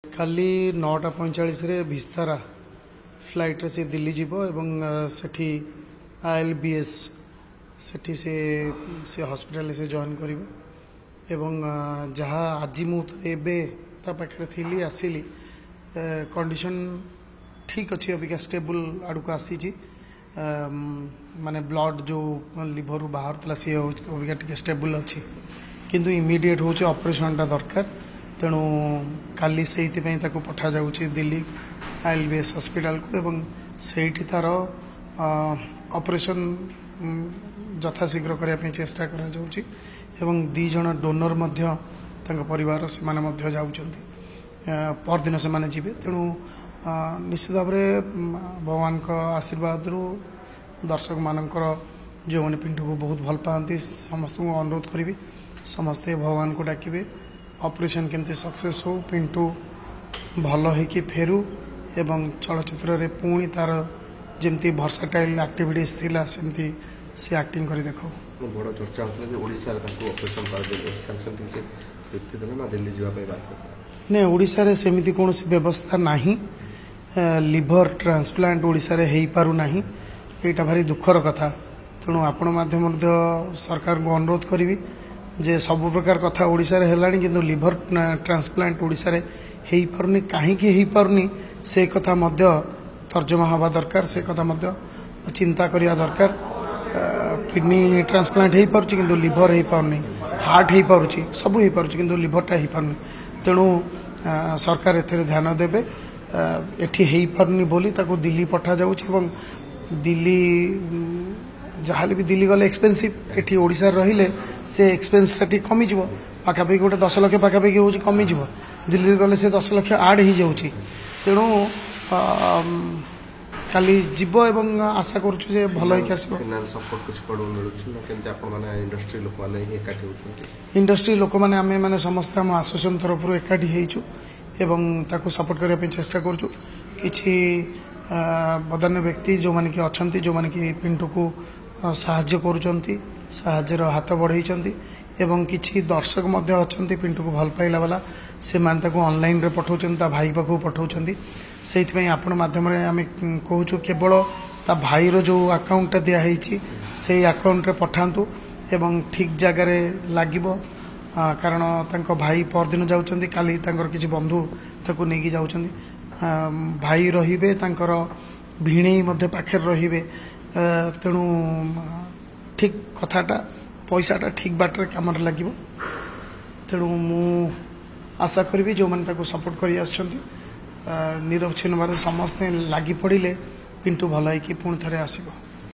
କାଲି 9:45ରେ ଭିସ୍ତାରା ଫ୍ଲାଇଟ୍ରେ ସେ ଦିଲ୍ଲୀ ଯିବ ଏବଂ ସେଠି ILBS ସେଠି ସେ ହସ୍ପିଟାଲରେ ସେ ଜଏନ୍ କରିବ। ଏବଂ ଯାହା ଆଜି ମୁଁ ତ ଏବେ ତା ପାଖରେ ଥିଲି, ଆସିଲି, କଣ୍ଡିସନ୍ ଠିକ୍ ଅଛି, ଅବିକା ଷ୍ଟେବୁଲ୍ ଆଡ଼କୁ ଆସିଛି। ମାନେ ବ୍ଲଡ଼ ଯେଉଁ ଲିଭରରୁ ବାହାରୁଥିଲା ସିଏ ହେଉଛି ଅବିକା ଟିକେ ଷ୍ଟେବୁଲ୍ ଅଛି, କିନ୍ତୁ ଇମିଡ଼ିଏଟ୍ ହେଉଛି ଅପରେସନ୍ଟା ଦରକାର। ତେଣୁ କାଲି ସେଇଥିପାଇଁ ତାକୁ ପଠାଯାଉଛି ଦିଲ୍ଲୀ ILBS ହସ୍ପିଟାଲକୁ ଏବଂ ସେଇଠି ତାର ଅପରେସନ୍ ଯଥାଶୀଘ୍ର କରିବା ପାଇଁ ଚେଷ୍ଟା କରାଯାଉଛି। ଏବଂ 2 ଜଣ ଡୋନର ମଧ୍ୟ ତାଙ୍କ ପରିବାର, ସେମାନେ ମଧ୍ୟ ଯାଉଛନ୍ତି, ପରଦିନ ସେମାନେ ଯିବେ। ତେଣୁ ନିଶ୍ଚିତ ଭାବରେ ଭଗବାନଙ୍କ ଆଶୀର୍ବାଦରୁ ଦର୍ଶକମାନଙ୍କର, ଯେଉଁମାନେ ପିଣ୍ଟୁକୁ ବହୁତ ଭଲ ପାଆନ୍ତି, ସମସ୍ତଙ୍କୁ ଅନୁରୋଧ କରିବି ସମସ୍ତେ ଭଗବାନଙ୍କୁ ଡାକିବେ ଅପରେସନ୍ କେମିତି ସକ୍ସେସ୍ ହଉ, ପିଣ୍ଟୁ ଭଲ ହେଇକି ଫେରୁ ଏବଂ ଚଳଚ୍ଚିତ୍ରରେ ପୁଣି ତାର ଯେମିତି ଭର୍ସାଟାଇଲ୍ ଆକ୍ଟିଭିଟିସ୍ ଥିଲା ସେମିତି ସେ ଆକ୍ଟିଂ କରି ଦେଖାଉ। ବଡ଼ ଚର୍ଚ୍ଚା ହେଉଥିଲା ଯେ ଓଡ଼ିଶାରେ ତାଙ୍କୁ ଅପରେସନ୍ କରାଯାଇ, ଓଡ଼ିଶାରେ ସେମିତି କିଛି ସ୍ଥିତି ଥିଲା ନା ଦିଲ୍ଲୀ ଯିବା ପାଇଁ ବାଧ୍ୟ? ନାଇଁ, ଓଡ଼ିଶାରେ ସେମିତି କୌଣସି ବ୍ୟବସ୍ଥା ନାହିଁ। ଲିଭର ଟ୍ରାନ୍ସପ୍ଲାଣ୍ଟ ଓଡ଼ିଶାରେ ହେଇପାରୁନାହିଁ, ଏଇଟା ଭାରି ଦୁଃଖର କଥା। ତେଣୁ ଆପଣ ମାଧ୍ୟମ ମଧ୍ୟ ସରକାରଙ୍କୁ ଅନୁରୋଧ କରିବି ଯେ ସବୁ ପ୍ରକାର କଥା ଓଡ଼ିଶାରେ ହେଲାଣି, କିନ୍ତୁ ଲିଭର ଟ୍ରାନ୍ସପ୍ଲାଣ୍ଟ ଓଡ଼ିଶାରେ ହେଇପାରୁନି। କାହିଁକି ହେଇପାରୁନି ସେ କଥା ମଧ୍ୟ ତର୍ଜମା ହେବା ଦରକାର, ସେ କଥା ମଧ୍ୟ ଚିନ୍ତା କରିବା ଦରକାର। କିଡ଼ନୀ ଟ୍ରାନ୍ସପ୍ଲାଣ୍ଟ ହେଇପାରୁଛି କିନ୍ତୁ ଲିଭର ହେଇପାରୁନି, ହାର୍ଟ ହେଇପାରୁଛି, ସବୁ ହେଇପାରୁଛି କିନ୍ତୁ ଲିଭରଟା ହେଇପାରୁନି। ତେଣୁ ସରକାର ଏଥିରେ ଧ୍ୟାନ ଦେବେ। ଏଠି ହେଇପାରୁନି ବୋଲି ତାକୁ ଦିଲ୍ଲୀ ପଠାଯାଉଛି ଏବଂ ଦିଲ୍ଲୀ ଯାହାହେଲେ ବି ଦିଲ୍ଲୀ ଗଲେ ଏକ୍ସପେନ୍ସିଭ୍। ଏଠି ଓଡ଼ିଶାରେ ରହିଲେ ସେ ଏକ୍ସପେନ୍ସଟା ଟିକେ କମିଯିବ, ପାଖାପାଖି ଗୋଟେ 10 ଲକ୍ଷ ପାଖାପାଖି ହେଉଛି କମିଯିବ। ଦିଲ୍ଲୀରେ ଗଲେ ସେ 10 ଲକ୍ଷ ଆଡ଼୍ ହେଇଯାଉଛି। ତେଣୁ କାଲି ଯିବ ଏବଂ ଆଶା କରୁଛୁ ଯେ ଭଲ ହେଇକି ଆସିବ। ସପୋର୍ଟ କିଛି କୁଆଡ଼ୁ ମିଳୁଛି ନା କେମିତି ଆପଣମାନେ ଇଣ୍ଡଷ୍ଟ୍ରି ଲୋକମାନେ ହିଁ ଏକାଠି ହେଉଛନ୍ତି? ଇଣ୍ଡଷ୍ଟ୍ରି ଲୋକମାନେ ଆମେ ମାନେ ସମସ୍ତେ ଆମ ଆସୋସିଏସନ୍ ତରଫରୁ ଏକାଠି ହେଇଛୁ ଏବଂ ତାକୁ ସପୋର୍ଟ କରିବା ପାଇଁ ଚେଷ୍ଟା କରୁଛୁ। କିଛି ବଦାନ୍ୟ ବ୍ୟକ୍ତି ଯେଉଁମାନେ କି ଅଛନ୍ତି, ଯେଉଁମାନେ କି ପିଣ୍ଟୁକୁ ସାହାଯ୍ୟ କରୁଛନ୍ତି, ସାହାଯ୍ୟର ହାତ ବଢ଼େଇଛନ୍ତି ଏବଂ କିଛି ଦର୍ଶକ ମଧ୍ୟ ଅଛନ୍ତି ପିଣ୍ଟୁକୁ ଭଲ ପାଇଲା ବାଲା, ସେମାନେ ତାକୁ ଅନଲାଇନ୍ରେ ପଠାଉଛନ୍ତି, ତା ଭାଇ ପାଖକୁ ପଠାଉଛନ୍ତି। ସେଇଥିପାଇଁ ଆପଣ ମାଧ୍ୟମରେ ଆମେ କହୁଛୁ କେବଳ ତା ଭାଇର ଯେଉଁ ଆକାଉଣ୍ଟଟା ଦିଆହେଇଛି ସେଇ ଆକାଉଣ୍ଟରେ ପଠାନ୍ତୁ ଏବଂ ଠିକ୍ ଜାଗାରେ ଲାଗିବ। କାରଣ ତାଙ୍କ ଭାଇ ପରଦିନ ଯାଉଛନ୍ତି, କାଲି ତାଙ୍କର କିଛି ବନ୍ଧୁ ତାକୁ ନେଇକି ଯାଉଛନ୍ତି। ଭାଇ ରହିବେ, ତାଙ୍କର ଭିଣେଇ ମଧ୍ୟ ପାଖରେ ରହିବେ। ତେଣୁ ଠିକ୍ କଥାଟା, ପଇସାଟା ଠିକ୍ ବାଟରେ କାମରେ ଲାଗିବ। ତେଣୁ ମୁଁ ଆଶା କରିବି ଯେଉଁମାନେ ତାକୁ ସପୋର୍ଟ କରି ଆସିଛନ୍ତି ନିରବଚ୍ଛିନ୍ନ ଭାବରେ ସମସ୍ତେ ଲାଗି ପଡ଼ିଲେ ପିଣ୍ଟୁ ଭଲ ହେଇକି ପୁଣି ଥରେ ଆସିବ।